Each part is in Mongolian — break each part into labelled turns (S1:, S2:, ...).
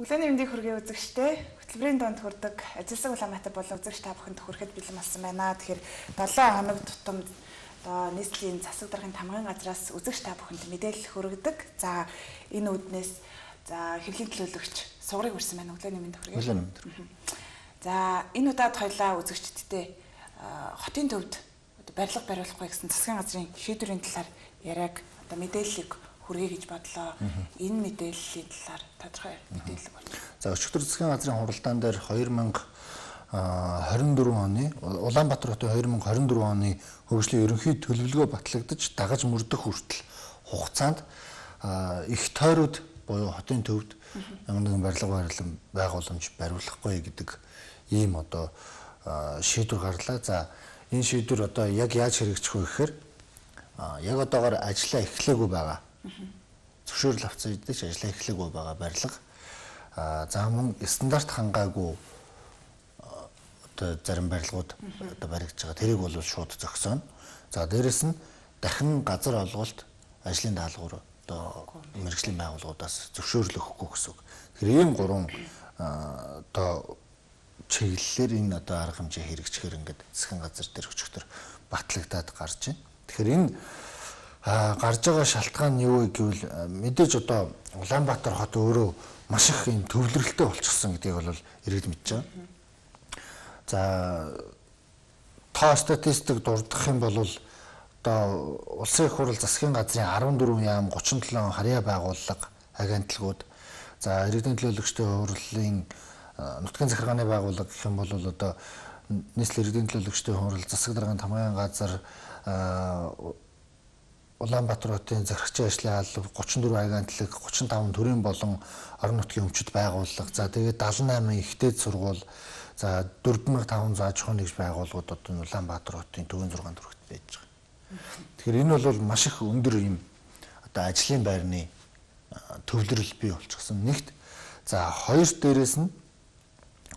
S1: Өглөөний мэндийг хүргэе үзэгчтэй. Хөтөлбөрийн донд хүрдэг Ажилсаг Улаанбаатар болон үзэгч та бүхэнд хүрэхэд бэлэн болсон байна. Тэгэхээр 7 хоног тутамд нийслэлийн засаг даргын тамгын газраас үзэгч та бүхэнд мэдээлэл хүргэдэг. За энэ үүднээс хэргийн төлөөлөгч сугарыг хүрсэн байна. Өглөөний мэнд хүргэе. За энэ удаад хоёлаа үзэгчдтэй хотын төвд барилга бариулахгүй гэсэн засгийн газрын шийдвэрийн талаар яриаг мэдээллийг хүргэе гэж бодлоо. Энэ мэдээллийн талаар тодорхой мэдээлэл болж байна.
S2: За өчигдөр засгийн газрын хуралдаан дээр 2024 оны Улаанбаатар хотын 2024 оны хөгжлийн ерөнхий төлөвлөгөө батлагдаж дагаж мөрдөх хүртэл хугацаанд их тойрууд буюу хотын төвд ямар нэгэн барилга байгууламж бариулахгүй гэдэг ийм шийдвэр гарлаа. За энэ шийдвэр яг яаж хэрэгжих вэ гэхээр яг одоогоор ажиллаа эхлэегүй байгаа. Зөвшөөрөл авсан үедээ ч ажиллаа эхлэегүй байгаа барилга. За мөн стандарт хангаагүй зарим барилгууд баригдаж байгаа. Тэрийг бол шууд зогсооно. За дээрэс нь дахин газар олголт ажлын даалгавар мэргэжлийн байгууллагуудаас зөвшөөрөл өгөхгүй гэсэн үг. Тэгэхээр ийм гурван чиглэлээр энэ арга хэмжээ хэрэгжихээр ингээд засгийн газар дээр өчигдөр батлагдаад гарч байна. Тэгэхээр энэ гарч байгаа шалтгаан нь юу вэ гэвэл мэдээж Улаанбаатар хот өөрөө маш их юм төвлөрөлтөй болчихсон гэдгийг бол иргэд мэдж байгаа. За тоо статистик дурдах юм бол улсын их хурал засгийн газрын 14 яам 37 харьяа байгууллага агентлагууд за иргэдийн төлөөлөгчдийн хурлын нутгийн захиргааны байгууллага гэх юм бол нийслэл иргэдийн төлөөлөгчдийн хурал засаг даргын тамгын газар Улаанбаатар хотын захирагчийн ажлын алба 34 агентлаг 35 төрийн болон орон нутгийн өмчит байгууллага за тэгээд 78 ихтэйд сургууль за 4500 аж ахуйн нэгж байгууллагууд Улаанбаатар хотын төвийн 6 төрөгт байж байгаа. Тэгэхээр энэ бол маш их өндөр юм ажлын байрны төвлөрөл бий болчихсон. Нэгт за хоёр дээрээс нь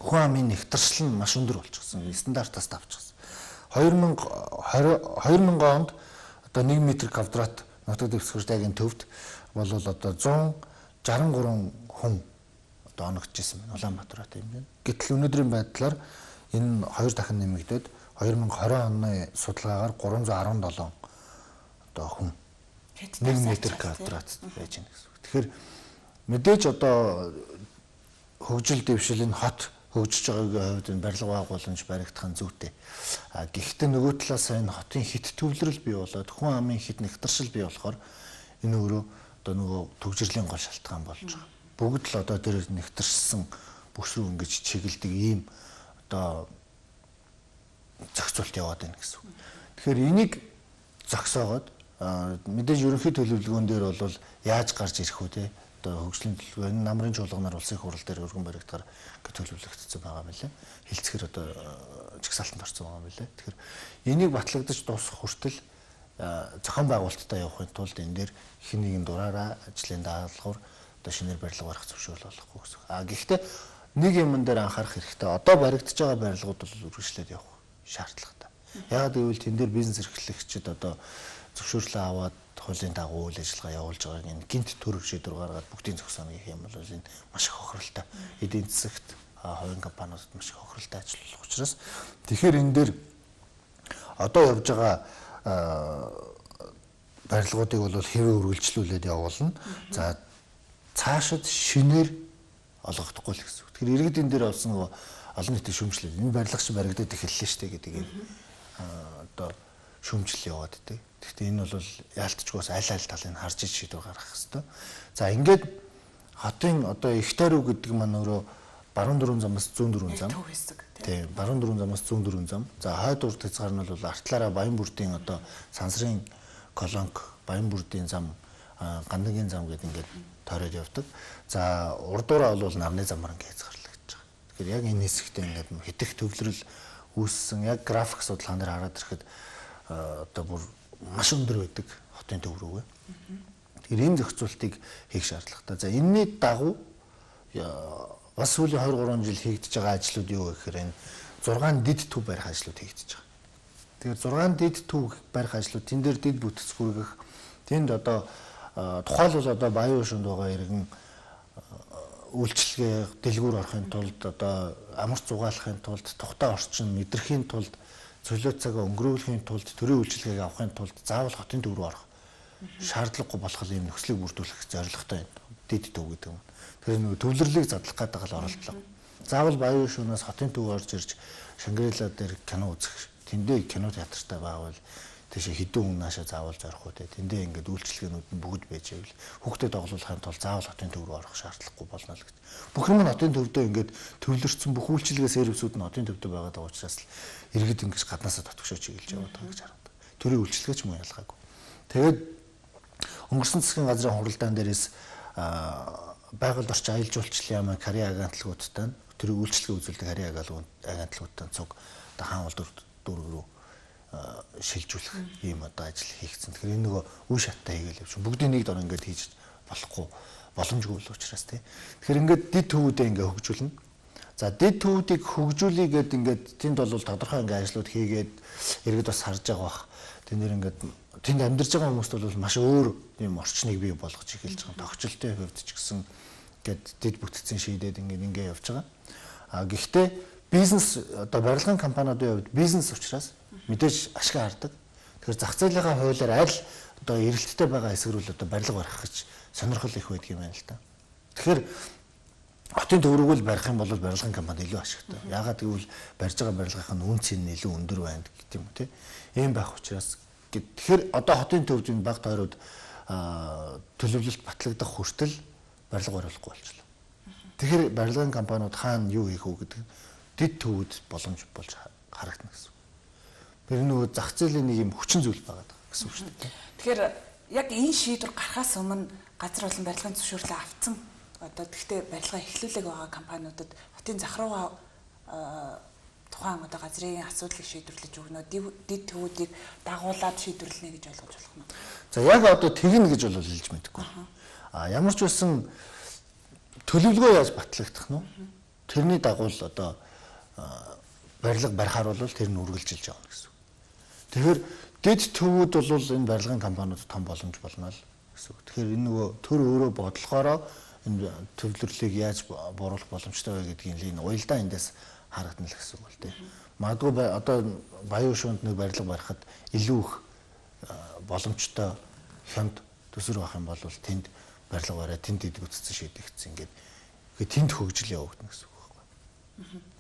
S2: хүн амын нэгтэршил нь маш өндөр болчихсон. Стандартаас давчихсан. 2000 онд 1 м квадрат нутаг дэвсгэртайгийн төвд бол 163 хүн оногдчихсэн байна. Улаанбаатар хот юм байна. Гэтэл өнөөдрийн байдлаар энэ хоёр дахин нэмэгдээд 2020 оны судалгаагаар 317 хүн 1 м квадрат байж байна гэсэн үг. Тэгэхээр мэдээж хөгжил дэвшил энэ хот хөгжиж байгаагийн хувьд энэ барилга байгууламж баригдах нь зүйтэй. Гэхдээ нөгөө талаас энэ хотын хит төвлөрөл бий болоод хүн амын хит нэгтэршил бий болохоор энэ өөрөө нөгөө төгжрлийн гол шалтгаан болж байгаа. Бүгд л тэр нэгтэрсэн бүс рүү ингэж чиглэдэг ийм зохицуулт яваад байна гэсэн үг. Тэгэхээр энийг зогсоогоод мэдээж ерөнхий төлөвлөгөөн дээр бол яаж гарч ирэх үү те хөгжлийн төлөвлөгөө энэ намрын чуулганаар улсын хурал дээр өргөн баригдахаар төлөвлөгдсөн байгаа юм лээ. Хилцэхэр жигсаалтанд орсон байгаа юм лээ. Тэгэхээр энийг батлагдаж дуусах хүртэл зохион байгуулалттай явахын тулд энэ дээр хэн нэгэн дураараа ажлын даалгавар шинээр барилга барих зөвшөөрөл олохгүй гэсэн. Гэхдээ нэг юм дээр анхаарах хэрэгтэй. Баригдаж байгаа барилгууд бол үргэлжлээд явах шаардлагатай. Яагаад гэвэл тэн дээр бизнес эрхлэгчид зөвшөөрлөө аваад хуулийн дагуу үйл ажиллагаа явуулж байгааг энэ гинт төрөв шийдвэр гаргаад бүгдийн зогсооно гэх юм бол энэ маш их хохиролтой. Эдийн засагт хувийн компаниудад маш их хохиролтой ажиллах учраас тэгэхээр энэ дээр явж байгаа барилгуудыг бол хэвээ үргэлжлүүлээд явуулна. За цаашид шинээр олгохдохгүй л гэсэн үг. Тэгэхээр иргэдийн дээр олсон олон нийтийн шүүмжлэл энэ барилга чинь баригдаад эхэллээ шүү дээ гэдгийг шүүмжил яваад идэг. Гэхдээ энэ бол яалтчгоос аль талыг харж иж шийдвэр гаргах хэрэгтэй. За ингээд хотын их тойрог гэдэг маань өөрөө баруун дөрвөн замаас зүүн дөрвөн зам. Тийм, баруун дөрвөн замаас зүүн дөрвөн зам. За хойд урд хязгаар нь бол артлаараа Баянбүрдийн сансрын колонк, Баянбүрдийн зам, Гандагийн зам гэдэг ингээд тойроод явдаг. За урдуураа бол нарны замаар ингээд хязгаарлагдаж байгаа. Тэгэхээр яг энэ хэсэгтээ ингээд хэтэх төвлөрөл үүссэн. Яг график судалгаан дээр хараад ирэхэд бүр маш өндөр байдаг хотын төв рүүгээ. Тэгэхээр энэ зохицуултыг хийх шаардлагатай. За энэний дагуу бас сүүлийн 23 жил хийгдэж байгаа ажлууд юу гэхээр энэ 6 дид төв барих ажлууд хийгдэж байгаа. Тэгэхээр 6 дид төв барих ажлууд тэн дээр дид бүтэцгүүргэх тэнд тухайлбал Баян шунд байгаа иргэн үйлчлэгээ дэлгүүр орохын тулд одоо амар зугаалахын тулд тухтай орчин мэдрэхийн тулд цөлөө цагаа өнгөрүүлэхийн тулд төрийн үйлчлэгийг авахын тулд заавал хотын төв рүү орох шаардлагагүй болох ийм нөхцөлийг бүрдүүлэх зорилготой дэд төв гэдэг юм. Тэгэхээр нөгөө төвлөрлийг задлах гэдэг л оролдлого. Заавал Баян шөнөөс хотын төв орж ирж Шангрила дээр кино үзэх тэндээ кино театртай байвал тийш хэдэн хүн наашаа заавал зорих үү те тэндээ ингээд үйлчлэгээнүүд нь бүгд байж байвал хүүхдэд оглуулахын тулд заавал хотын төв рүү орох шаардлагагүй болно л гэж. Бүх юм нь хотын төвдөө ингээд төвлөрсөн бүх үйлчлэгээ сервисүүд нь хотын төвдөө байгаа даа учраас л иргэд ингэж гаднаасаа татгшоо чиглэж яваад байгаа гэж харагдав. Төрийн үйлчлэгээ ч мөн ялгаагүй. Тэгээд өнгөрсөн засгийн газрын хуралдаан дээрээс байгальд орчин аялал жуулчлалын яамын карьер агентлагуудтай төрийн үйлчлэгээ үзүүлдэг карьер агентлагуудтай цуг одоо хаан улдуур дүүрэг рүү шилжүүлэх ийм одоо ажил хийгдсэн. Тэгэхээр энэ нөгөө үе шаттай хийгээл явж бүгдийн нэг дор ингээд хийж болохгүй боломжгүй л учраас тийм. Тэгэхээр ингээд дид төвүүдээ ингээд хөгжүүлнэ. За дид төвүүдийг хөгжүүлээ гэд ингээд тэнд бол тодорхой ингээд ажлууд хийгээд иргэд бас харж байгаа бах. Тэнд ингээд тэнд амьдарч байгаа хүмүүст бол маш өөр ийм орчныг бий болгож эхэлж байгаа. Тогтчлолтын хувьд ч гэсэн ингээд дид бүтцийн шийдээд ингээд явж байгаа. Гэхдээ бизнес одоо барилгын компаниудын хувьд бизнес учраас мэдээж ашиг хардаг. Тэгэхээр зах зээлийнхаа хуулиар аль одоо эрэлттэй байгаа хэсэг рүү одоо барилга барих гэж сонирхол их байдаг юм байна л да. Тэгэхээр хотын төв рүүг л барих юм бол барилгын компани илүү ашигтай. Яагаад гэвэл барьж байгаа барилгын үн цэн нь илүү өндөр байна гэх юм тий. Ийм байх учраас тэгэхээр одоо хотын төвд энэ баг тойроод төлөвлөлт батлагдах хүртэл барилга бариулахгүй болчихлоо. Тэгэхээр барилгын компаниуд хаана юу хийх үү гэдэг дид төвүүд боломж болж харагдана гэсэн. Тэр нөгөө зах зээлийн нэг юм хүчин зүйл байгаа гэсэн үг шүү дээ.
S1: Тэгэхээр яг энэ шийдвэр гарахаас өмнө газар болон барилгын зөвшөөрлөө авсан одоо тэгтээ барилга эхлүүлэг байгаа компаниудад хотын зах руугаа тухайн одоо газрын асуудлыг шийдвэрлэж өгнө дид төвүүдийг дагуулад шийдвэрлэнэ гэж ойлгож болох нь.
S2: За яг одоо тэгнэ гэж бол хэлж мэдэхгүй. Ямар ч байсан төлөвлөгөө яаж батлагдах нь тэрний дагуу л одоо барилга барихаар бол тэр нь үргэлжилж явна гэсэн. Тэгэхээр дэд төвүүд бол энэ барилгын компаниуд том боломж болно л гэсэн. Тэгэхээр энэ нөгөө төр өөрөө бодлохоороо энэ төвлөрлийг яаж бууруулах боломжтой вэ гэдгийг энэ уялдаа эндээс харагдана л гэсэн үг л дээ. Магадгүй одоо Баян шуунд нэг барилга барихад илүү их боломжтой хямд төсвөр авах юм бол тэнд барилга бариад тэнд дэд бүтцэн шийдэгдсэн ингээд тэнд хөгжил явагдана гэсэн үг байхгүй.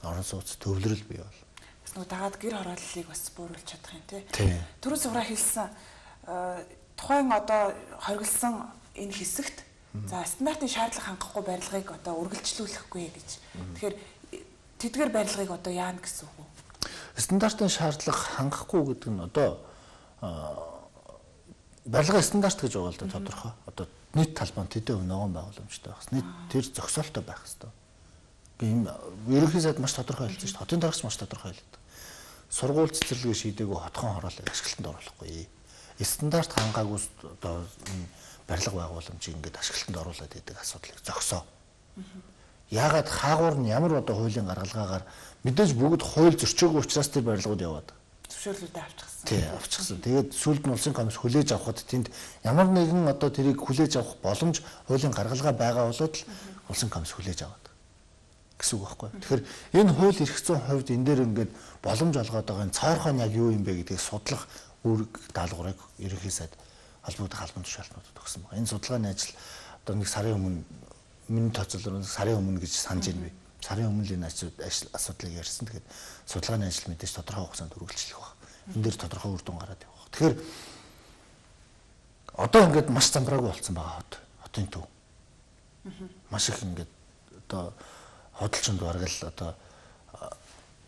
S2: Орон сууц төвлөрөл бий бол.
S1: Бас нөгөө дагаад гэр хорооллыг бас бууруулж чадах юм тий. Түрүү суграа хэлсэн тухайн одоо хоригдсан энэ хэсэгт за стандартын шаардлага хангахгүй барилгыг одоо үргэлжлүүлэхгүй гэж. Тэгэхээр тэдгээр барилгыг одоо яана гэсэн үг үү?
S2: Стандартын шаардлага хангахгүй гэдэг нь одоо барилгын стандарт гэж байгаа л да тодорхой. Одоо нийт талбай тэдэн ногоон байгууламжтай байх. Нийт тэр зохисолтой байх хэрэгтэй. Ийм ерөнхий сайд маш тодорхой хэлсэн шүү дээ. Хотын даргач маш тодорхой хэлдэг. Сургууль цэцэрлэгээ шийдээгүй хотхон хороолыг ашиглалтанд оруулахгүй. Стандарт хангаагүй одоо барилга байгууламжийг ингээд ашиглалтанд оруулаад идэг асуудлыг зогсоо. Яагаад хаагуур нь ямар одоо хуулийн гаргалгаагаар мэдээж бүгд хууль зөрчөөгүй учраас тэр барилгууд яваад
S1: зөвшөөрлүүдээ авчихсан.
S2: Тий, авчихсан. Тэгээд сүүлд нь улсын комисс хүлээж авахд тэнд ямар нэгэн одоо тэрийг хүлээж авах боломж хуулийн гаргалгаа байгаа болоод л улсын комисс хүлээж аваад гэсэн үг байхгүй. Тэгэхээр энэ хууль эрх зүйн хувьд энэ дээр ингээд боломж олгоод байгаа энэ цаорхоо нь яг юу юм бэ гэдгийг судлах үүрэг даалгаврыг ерөнхий сайд холбогдох албан тушаалтнуудад өгсөн байна. Энэ судалгааны ажил одоо нэг сарын өмнө миний тооцоолоор сарын өмнө гэж санаж байна би. Сарын өмнө л энэ асуудлыг ярьсан. Тэгэхээр судалгааны ажил мэдээж тодорхой хугацаанд үргэлжлэх баг. Энэ дээр тодорхой үр дүн гараад явах. Тэгэхээр одоо ингээд маш замбраагүй болсон байгаа хотын төв. Маш их ингээд одоо хөдөлчөнд бараг л одоо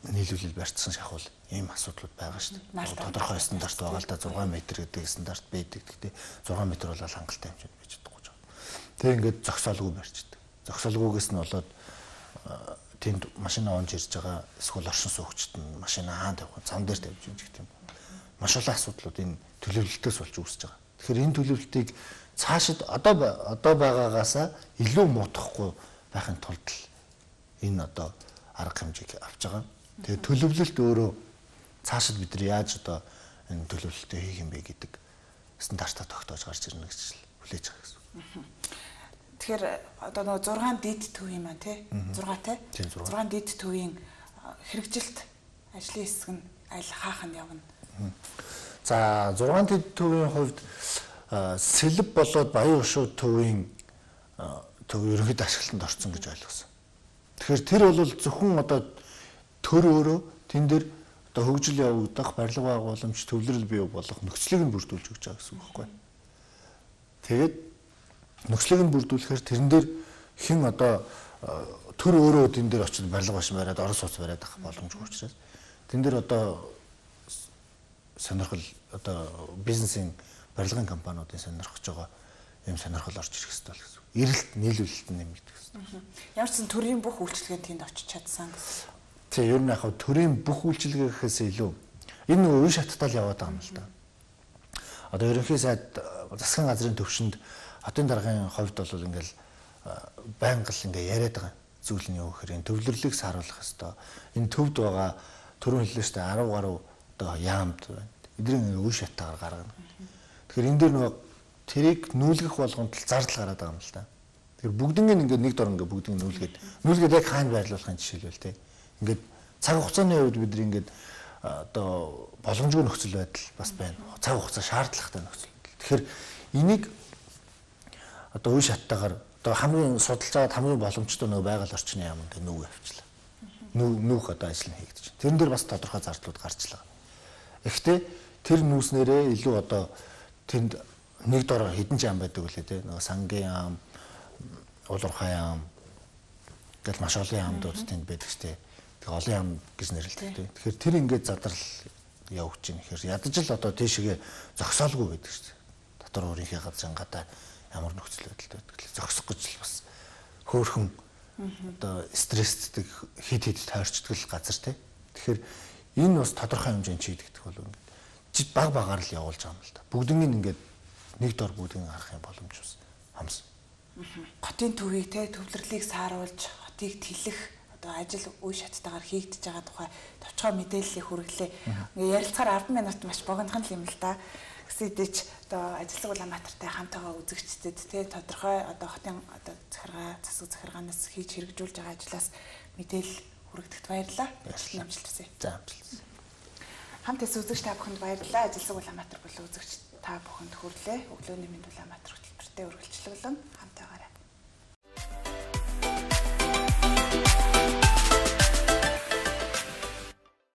S2: нийлүүлэл барьцсан шахвал ийм асуудлууд байгаа шүү дээ. Тодорхой стандарт байгаа л да 6 м гэдэг стандарт байдаг. Гэхдээ 6 м бол хангалттай хэмжээнд байж чадахгүй жаа. Тэг ингээд зогсоолгүй барьчдаг. Зогсоолгүйгээс нь болоод тэнд машина онж ирж байгаа эсвэл оршин суугчид нь машина хаан тавих зам дээр тавьж юм гэх юм. Маш олон асуудлууд энэ төлөвлөлтөөс болж үүсэж байгаа. Тэгэхээр энэ төлөвлөлтийг цаашид одоо байгаагаасаа илүү муутгахгүй байхын тулд энэ одоо арга хэмжээг авч байгаа. Тэгээ төлөвлөлт өөрөө цаашид бид нар яаж одоо энэ төлөвлөлтөө хийх юм бэ гэдэг стандартаа тогтоож гарч ирнэ гэж хүлээж байгаа гэсэн.
S1: Тэгэхээр одоо нөгөө 6 дид төв юм аа тий 6 тий 6 дид төвийн хэрэгжилт ажлын хэсэг нь аль хаах нь явна.
S2: За 6 дид төвийн хувьд сэлб болоод Баян Хошуу төвийн төв ерөнхийд ашиглалтанд орсон гэж ойлгосон. Тэгэхээр тэр бол зөвхөн одоо төр өөрөө тэн дээр одоо хөгжил явагдах, барилга байгууламж, төвлөрөл бий болох нөхцөлийг нь бүрдүүлж өгч байгаа гэсэн үг байхгүй. Тэгээд нөхцөлийг нь бүрдүүлэхээр тэрэн дээр хэн одоо төр өөрөө тэн дээр очиж барилга башин бариад, орон сууц бариад авах боломжгүй учраас тэн дээр одоо сонирхол одоо бизнесийн барилгын компаниудын сонирхож байгаа юм сонирхол орж ирэх хэрэгтэй л гэсэн. Эрэлт нийлүүлэлт нэмэгдэх хэрэгтэй.
S1: Ямар ч сан төрийн бүх үйлчлэгэнд тэнд очиж чадсан гэсэн.
S2: Тэгээ ер нь яг төрийн бүх үйлчилгээ гэхээс илүү энэ нөгөө үе шаттал яваад байгаа юм л да. Одоо ерөнхий сайд засгийн газрын төвшөнд хотын даргын хувьд бол ингээл байнга л ингээ яриад байгаа зүйл нь юу гэхээр энэ төвлөрлийг сааруулах хэвээр. Энэ төвд байгаа төрийн хэллээ штэ 10 гаруй одоо яамд байна. Эдгээр үе шаттаагаар гаргана. Тэгэхээр энэ дээр нөгөө тэрийг нүүлгэх болгонд л зардал гараад байгаа юм л да. Тэгэхээр бүгднийг ингээ нэг дор ингээ бүгдийг нүүлгээд яг хаана байрлуулахын жишээлбэл тий. Ингээд цаг хугацааны үед бид ингээд одоо боломжгүй нөхцөл байдал бас байна. Цаг хугацаа шаардлагатай нөхцөл. Тэгэхээр энийг одоо үе шаттаагаар одоо хамгийн судалж байгаа хамгийн боломжтой нөгөө байгаль орчны яамд нүүг авчлаа. Нүүх одоо ажил нь хийгдэж байна. Тэрэн дээр бас тодорхой зардлууд гарчлаа. Гэхдээ тэр нүүснээрээ илүү одоо тэнд нэг дор хэдэн яам байдаг үлээ те нөгөө сангийн яам, улуурхай яам гэл маш олон яамдууд тэнд байдаг штэ. Тэг олон яам гэж нэрлэдэг те. Тэгэхээр тэр ингээд задрал явж байна. Тэгэхээр ядаж л одоо тийшээ зогсоолгүй байдаг штэ. Дотор өөрийнхөө газрынгаадаа ямар нөхцөл байдалтай байдаг. Зогсох гэж л бас хөөхөн одоо стресстэй хид тойрчдаг газар те. Тэгэхээр энэ бас тодорхой хэмжээнд чийдэгдэх бол ингээд баг багаар л явуулж байгаа юм л да. Бүгднийг ингээд нэг дор бүгдийг харах юм боломж бас хамс.
S1: Хотын төвийг те төвлөрлийг сааруулж хотыг тэлэх одоо ажил үе шаттайгаар хийгдэж байгаа тухай товчхон мэдээллийг хүргэлээ. Ингээ ярилцахаар 10 минут маш богинохан юм л да. Гэсэн хэдий ч одоо Ажилсаг Улаанбаатартай хамтаага үзэгчдэд те тодорхой одоо хотын одоо захиргаа засаг захиргаанаас хийж хэрэгжүүлж байгаа ажлаас мэдээлэл хүргэдэгт баярлалаа. Амжилт хүсье.
S2: За амжилт.
S1: Хамт эс үзэгч та бүхэнд баярлалаа. Ажилсаг Улаанбаатар болон үзэгч та бүхэнд хүрлээ. Өглөөний мэнд Улаанбаатар хөтөлбөртэй үргэлжлүүлэн хамтаа